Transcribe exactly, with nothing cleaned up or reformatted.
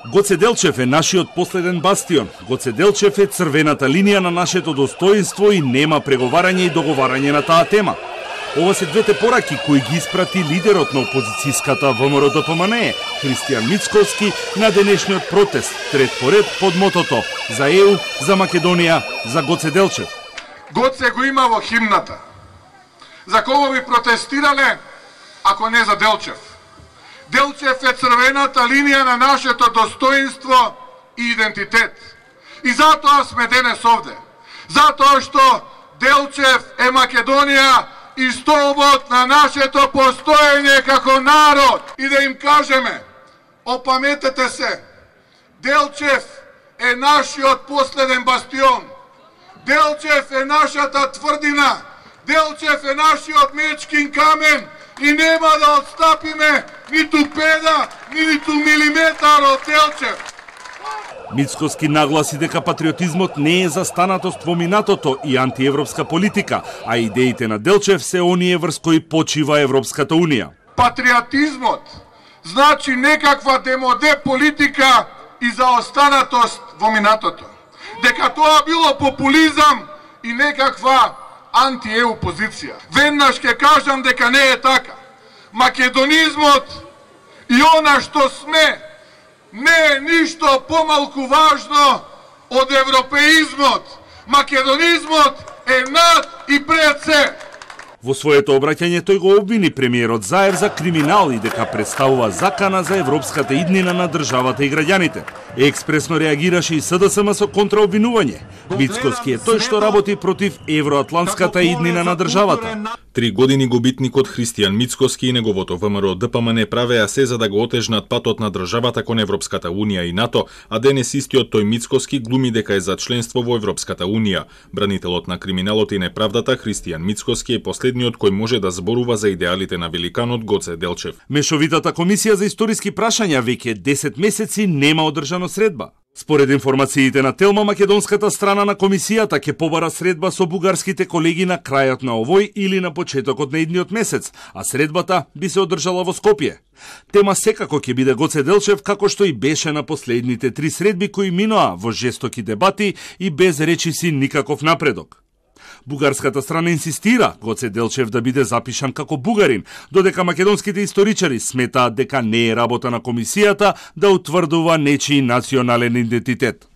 Гоце Делчев е нашиот последен бастион. Гоце Делчев е црвената линија на нашето достоинство и нема преговарање и договарање на таа тема. Ова се двете пораки кои ги испрати лидерот на опозицијската ВМРО Д П М Н, Христијан Мицкоски, на денешниот протест, трет поред под мотото за Е У, за Македонија, за Гоце Делчев. Гоце го има во химната. За кого би протестирале, ако не за Делчев? Делчев е црвената линија на нашето достоинство и идентитет. И затоа сме денес овде. Затоа што Делчев е Македонија и столбот на нашето постоење како народ. И да им кажеме, опаметете се, Делчев е нашиот последен бастион. Делчев е нашата тврдина. Делчев е нашиот мечкин камен и нема да отстапиме ниту педа, ниту милиметар од Делчев. Мицкоски нагласи дека патриотизмот не е застанатост во минатото и антиевропска политика, а идеите на Делчев се оние врз кои почива Европската Унија. Патриотизмот значи некаква демоде политика и заостанатост во минатото. Дека тоа било популизам и некаква анти-Е У позиција. Веднаш ќе кажам дека не е така. Македонизмот и она што сме не е ништо помалку важно од европеизмот. Македонизмот е над и пред се. Во своето обраќање тој го обвини премиерот Заев за криминал и дека представува закана за европската иднина на државата и граѓаните. Експресно реагираше и С Д С М со контраобвинување. Мицкоски е тој што работи против евроатлантската иднина на државата. Три години губитникот Христијан Мицкоски и неговото В М R O Д П М Н правеа се за да го отежнат патот на државата кон Европската Унија и НАТО, а денес истиот тој Мицкоски глуми дека е за членство во Европската Унија. Бранителот на криминалот и неправдата Христијан Мицкоски е последниот кој може да зборува за идеалите на великанот Гоце Делчев. Мешовитата комисија за историски прашања веќе десет месеци нема одржано средба. Според информациите на Телма, македонската страна на комисијата ќе побара средба со бугарските колеги на крајот на овој или на почетокот на идниот месец, а средбата би се одржала во Скопје. Тема секако ќе биде Гоце Делчев, како што и беше на последните три средби кои миноа во жестоки дебати и без речиси никаков напредок. Бугарската страна инсистира Гоце Делчев да биде запишан како бугарин, додека македонските историчари сметаат дека не е работа на комисијата да утврдува нечии национален идентитет.